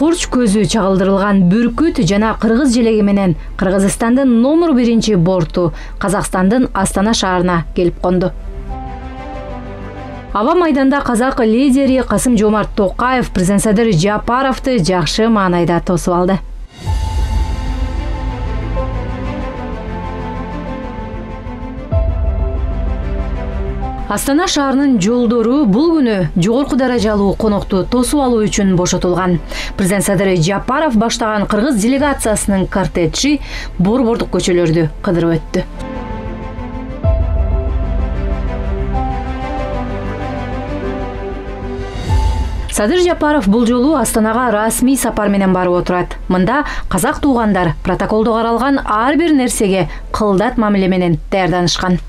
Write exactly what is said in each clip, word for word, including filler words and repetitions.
курч көзү чагылдырылган бүркүт жана кыргыз желеги менен Кыргызстандын номер биринчи борту Казакстандын Астана шаарына келип конду. Аба майданда казак лидери Касым-Жомарт Токаев президент Садыр Жапаровду жакшы маанайда тосуп алды. Астана шаарынын жолдору бул күнү жогорку даражалуу конокту тосуп алуу үчүн бошотулган. Президент Садыр Жапаров баштаган кыргыз делегациясынын кортежи борбордук көчөлөрдү кыдырып өттү. Садыр Жапаров бул жолу Астанага расмий сапар менен барып отурат. Мында казак туугандар протоколдо каралган ар бир нерсеге кылдат мамиле менен даярданышкан.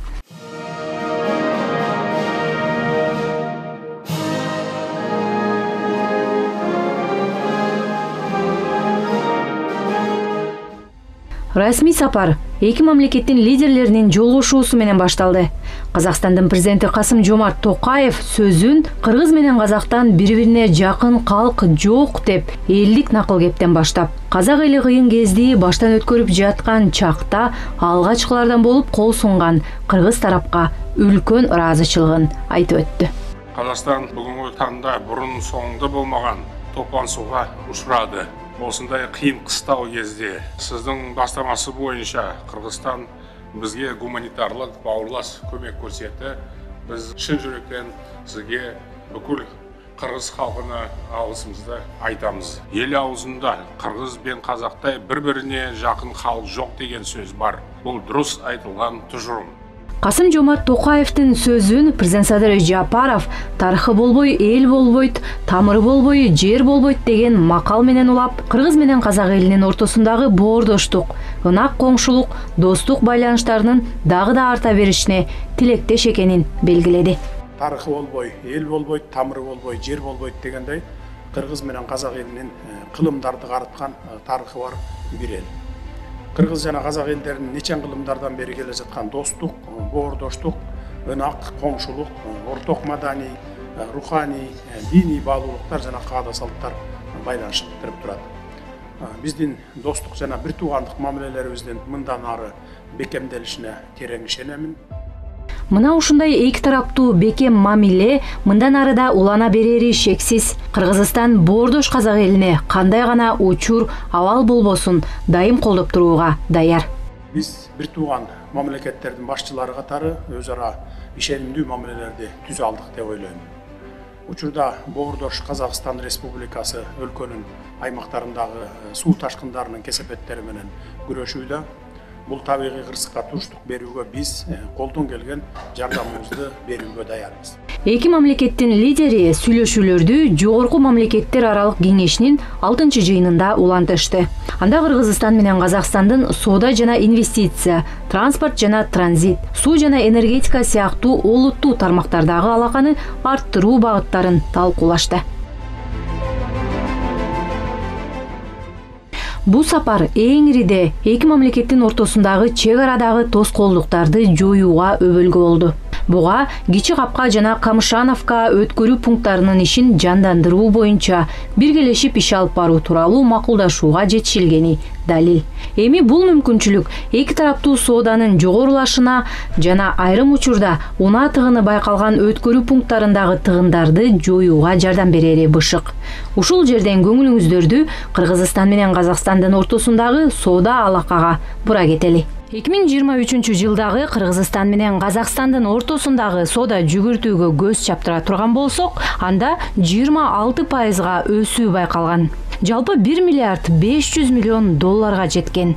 Расмий сапар эки мамлекеттин лидерлеринин жолугушуусу менен башталды. Казакстандын президенти Касым-Жомарт Токаев сөзүн кыргыз менен казактан бири-бирине жакын калк жок деп элдик накыл кептен баштап, казак эли кыйын кезди баштан өткөрүп жаткан чакта алгачкылардан болуп кол сунган кыргыз тарапка үлкөн ыраазычылыгын айтып өттү. Казакстан бүгүнкү таңда бурун соңунда болмаган топлансууга учурады. Осындай кыйын кыстау кезде сиздин бастамасы боюнча Кыргызстан бизге гуманитарлык бауырлас көмөк көрсөттү. Биз чын жүрөктөн сизге бүкүл кыргыз халкына алгысыбызды айтамыз. Эл аузунда кыргыз бен казактай бири-бирине жакын халк жок деген сөз бар. Бул дурус айтылган тужурум. Касым-Жомарт Токаевдин сөзүн президент Садыр Жапаров тарыхы болбой эл болбойт, тамыры болбой жер болбойт деген макал менен улап, кыргыз менен казак элинин ортосундагы боордоштук, ынак коңшулук, достук байланыштарынын дагы да арта беришине тилектеш экенин белгиледи. Тарыхы болбой, эл болбойт, тамыры болбой, жер болбойт дегендей, кыргыз менен казак элинин кылымдарды карыткан тарыхы бар бир эл. Кыргыз жана казак элдеринин нечен кылымдардан бери келе жаткан достук, боордоштук, ынак, коңшулук, орток маданий, руханий, диний баалуулуктар жана каада салттар байланыштырып турат. Биздин достук жана бир туугандык мамилелерибиздин мындан ары бекемделишине терең ишенемин. Мына ушундай эки тараптуу бекем мамиле мындан ары да улана берери шексиз. Кыргызстан боордош казак элине кандай гана учур, абал болбосун дайым колдоп турууга даяр. Биз бир тууган мамлекеттердин башчылары катары өз ара ишенимдүү мамилелерди түзө алдык деп ойлойм. Учурда боордош Казакстан Республикасы өлкөнүн аймактарындагы суу ташкындарынын кесепеттери менен күрөшүүдө. Бул табигый кырсыкка туруштук берүүгө биз колдон келген жардамыбызды берүүгө даярбыз. Эки мамлекеттин лидери сүйлөшүүлөрдү жогорку мамлекеттер аралык кеңешинин алтынчы жыйынында улантышты. Анда Кыргызстан менен Казакстандын соода жана инвестиция, транспорт жана транзит, суу жана энергетика сыяктуу олуттуу тармактардагы алаканы арттыруу багыттарын талкуулашты. Бул сапар эңириде эки мамлекеттин ортосундагы чек арадагы тоскоолдуктарды жоюуга өбөлгө болду. Буга Кичи Капка жана Камышановка өткөрүү пункттарынын ишин жандандыруу боюнча биргелешип иш алып баруу тууралуу макулдашууга жетишилгени далил. Эми бул мүмкүнчүлүк эки тараптуу сооданын жогорулашына жана айрым учурда унаа тыгыны байкалган өткөрүү пункттарындагы тыгындарды жоюуга жардам берери бышык. Ушул жерден көңүлүңүздөрдү Кыргызстан менен Казакстандын ортосундагы соода алакага бура кетели. эки миң жыйырма үчүнчү жылдагы Кыргызстан менен Казакстандын ортосундагы соода жүгүртүүгө көз чаптыра турган болсок, анда жыйырма алты пайызга өсүү байкалган. Жалпы бир миллиард беш жүз миллион долларга жеткен.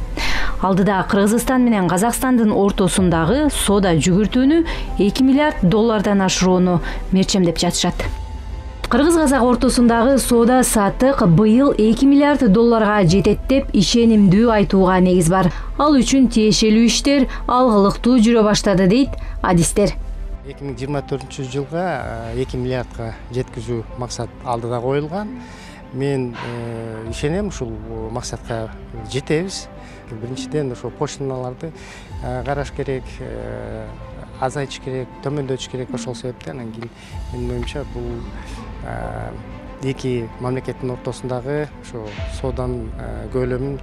Алдыда Кыргызстан менен Казакстандын ортосундагы соода жүгүртүүнү эки миллиард доллардан ашырууну мерчемдеп жатышат. Кыргыз-казак ортосундагы соода саттык быйыл эки миллиард долларга жетет деп ишенимдүү айтууга негиз бар. Ал үчүн тиешелүү иштер алгылыктуу жүрө баштады дейт адистер. эки миң жыйырма төртүнчү жылга эки миллиардга жеткизүү максат алдыда коюлган. Мен ишенем ушул максатка жетебиз. Биринчиден ошо пошлиналарды караш керек, азайтыш керек, төмөндөтүш керек. Ошол себептен анан кийин менин оюмча бул эки мамлекеттин ортосундагы ошо сооданын көлөмүн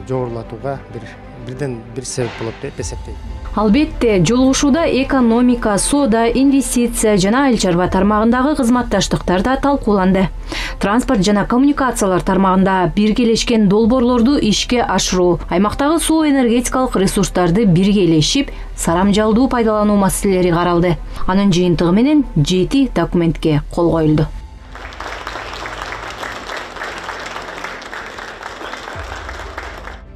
жогорулатууга бир бирден бир себеп болот деп эсептейм. Албетте, жолугушууда экономика, соода, инвестиция жана айыл чарба тармагындагы кызматташтыктар да талкууланды. Транспорт жана коммуникациялар тармагында биргелешкен долбоорлорду ишке ашыруу, аймактагы суу энергетикалык ресурстарды биргелешип, сарамжалдуу пайдалануу маселелери каралды. Анын жыйынтыгы менен жети документке кол коюлду.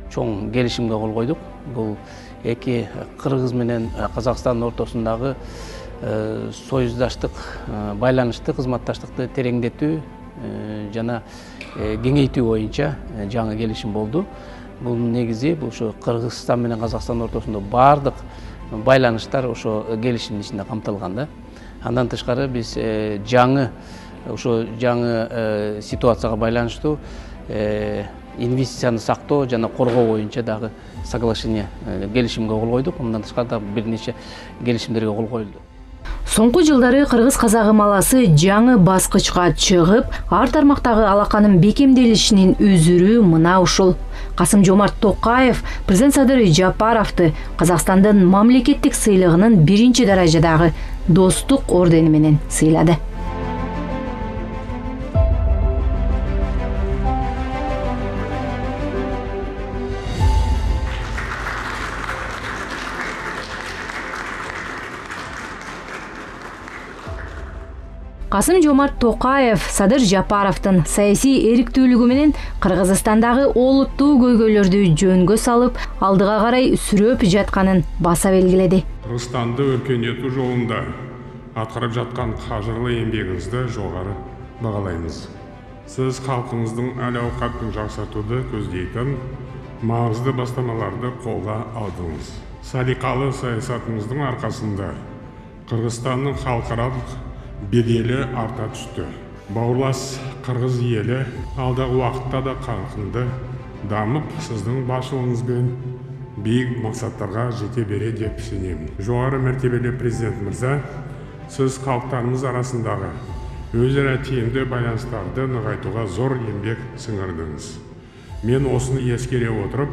Чоң келишимге кол койдук. Бул эки Кыргыз менен Казакстандын ортосундагы союздаштык, байланышты, кызматташтыкты тереңдетүү жана кеңейтүү боюнча жаңы келишим болду. Бул негизи бул ошо Кыргызстан менен Казакстандын ортосунда бардык байланыштар ошо келишимдин ичинде камтылган да. Андан тышкары биз жаңы ошо жаңы ситуацияга байланыштуу инвестицияны сактоо жана коргоо боюнча дагы соглашение келишимге кол койдук. Мындан тышкары да бир нече келишимдерге кол коюлду. Соңку жылдары кыргыз-казак ымаласы жаңы баскычка чыгып, ар тармактагы алаканын бекемделишинин үзүрү мына ушул. Касым-Жомарт Токаев президент Садыр Жапаровду Казакстандын мамлекеттик сыйлыгынын биринчи даражадагы достук ордени менен сыйлады. Касым-Жомарт Токаев Садыр Жапаровдун саясий эриктүүлүгү менен Кыргызстандагы олуттуу көйгөйлөрдү жөнгө салып, алдыга карай сүрөп жатканын баса белгиледи. Кыргызстанды өркөндөтүү жолунда аткарып жаткан кажырлы эмгегиңизди жогору багалайбыз. Сиз калкыңыздын эл-аукатын жаксартууду көздөйтөн маңызды бастамаларды колго алдыңыз. Саликалуу саясатыңыздын аркасында Кыргызстандын халкаралык бедели арта түштү. Бауырлас Кыргыз эли алдағы уақытта да қарқынды дамып, сіздің басшылығыңызбен бийик мақсаттарға жете бере деп сенемін. Жоғары мәртебелі президент мырза, сіз халықтарымыз арасындағы өзара тиімді байланыстарды нығайтуға зор еңбек сіңірдіңіз. Мен осыны ескере отырып,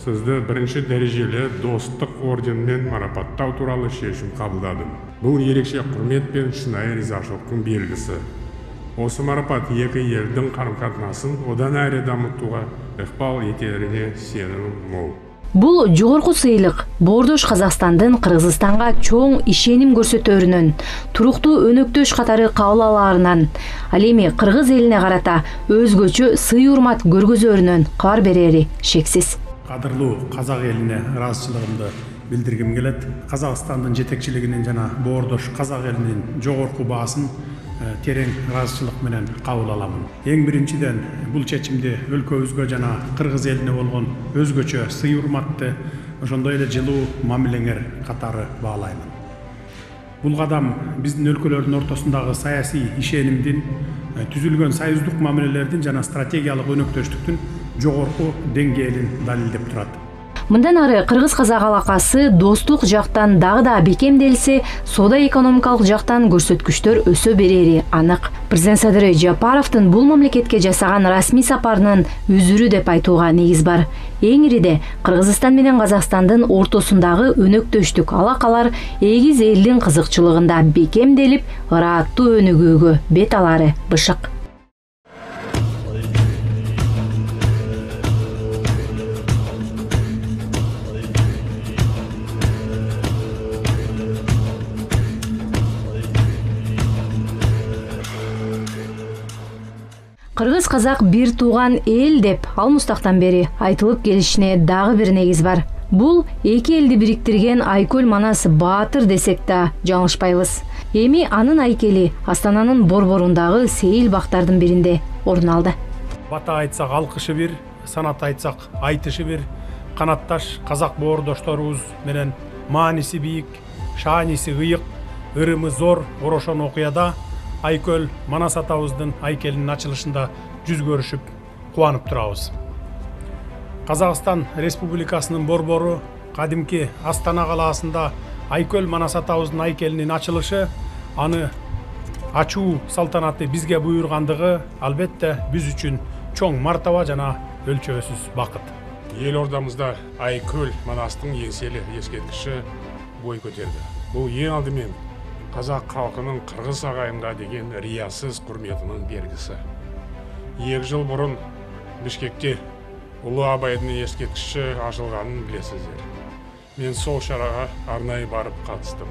сізді бірінші дәрежелі достық орденмен марапаттау туралы шешім қабылдадым. Бұл ерекше құрмет пен шынайы ризашылықтың белгісі. Осы марапат екі елдің қарым-қатынасын одан әрі дамытуға ықпал етеріне сенімім мол. Бул жогорку сыйлык Боордош Казакстандын Кыргызстанга чоң ишеним көрсөтөрүнөн, туруктуу өнөктөш катары кабыл алаарынан, ал эми Кыргыз элине карата өзгөчө сый-урмат көргөзөрүнөн кабар берери шексиз. Кадырлуу казак элине ыраазычылыгымды билдиргим келет. Казакстандын жетекчилигинин жана Боордош казак элинин жогорку баасын терең ыраазычылык менен кабыл аламын. Эң биринчиден бул чечимди өлкөбүзгө жана Кыргыз элине болгон өзгөчө сый-урматты, ошондой эле жылуу мамилеңер катары баалаймын. Бул кадам биздин өлкөлөрдүн ортосундагы саясий ишенимдин, түзүлгөн союздук мамилелердин жана стратегиялык өнөктөштүктүн жогорку деңгээлин далилдеп турат. Мындан ары Кыргыз-казак алакасы достук жактан дагы да бекемделсе, соода экономикалык жактан көрсөткүчтөр өсө берери анык. Президент Садыр Жапаровдун бул мамлекетке жасаган расмий сапарынын үзүрү деп айтууга негиз бар. Эң ириде Кыргызстан менен Казакстандын ортосундагы өнөктөштүк алакалар эгиз элдин кызыкчылыгында бекемделип, ырааттуу өнүгүүгө бет алары бышык. Кыргыз-казак бир тууган эл деп ал мустактан бери айтылып келишине дагы бир негиз бар. Бул эки элди бириктирген Айкөл Манас Баатыр десек да жаңылышпайбыз. Эми анын айкели Астананын борборундагы сейил бактардын биринде орун алды. Бата айтсак алкышы бир, санат айтсак айтышы бир, канатташ казак боордошторубуз менен мааниси бийик, шааниси ыйык, ырымы зор орошон окуяда Айкөл Манас атабыздын айкелинин ачылышында жүз көрүшүп, кубанып турабыз. Казакстан Республикасынын борбору кадимки Астана калаасында Айкөл Манас атабыздын айкелинин ачылышы аны ачуу салтанаты бизге буйргандыгы албетте биз үчүн чоң мартаба жана өлчөсүз бакыт. Ел ордамызда Айкөл Манастың еңселі ескерткіші бой көтерді. Бұл ең алдымен қазақ халқының қырғыз ағайынға деген риясыз құрметінің белгісі. Екі жыл бұрын Бішкекте Ұлы Абайдың ескерткіші ашылғанын білесіздер. Мен сол шараға арнайы барып қатыстым.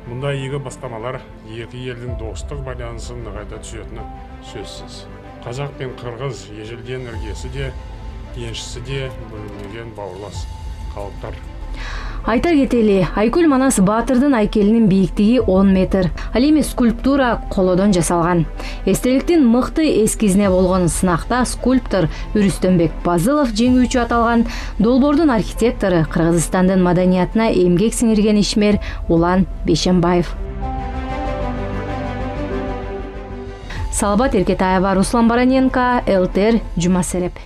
Мұнда игі бастамалар екі елдің достық байланысын нығайта түсетіні сөзсіз. Қазақ пен қырғыз ежелден іргесі де, еншісі де бөлінбеген бауырлас халықтар. Айта кетели, Айкөл Манас Баатырдын айкелинин бийиктиги он метр. Ал эми скульптура колодон жасалган. Эстеликтин мыкты эскизине болгон сынакта скульптор Үрүстөнбек Базылов жеңүүчү аталган. Долбоордун архитектору Кыргызстандын маданиятына эмгек сиңирген ишмер Улан Бейшенбаев. Салбат Эркетаева, Руслан Бараненко, эл тэ эр, Жума Сереп.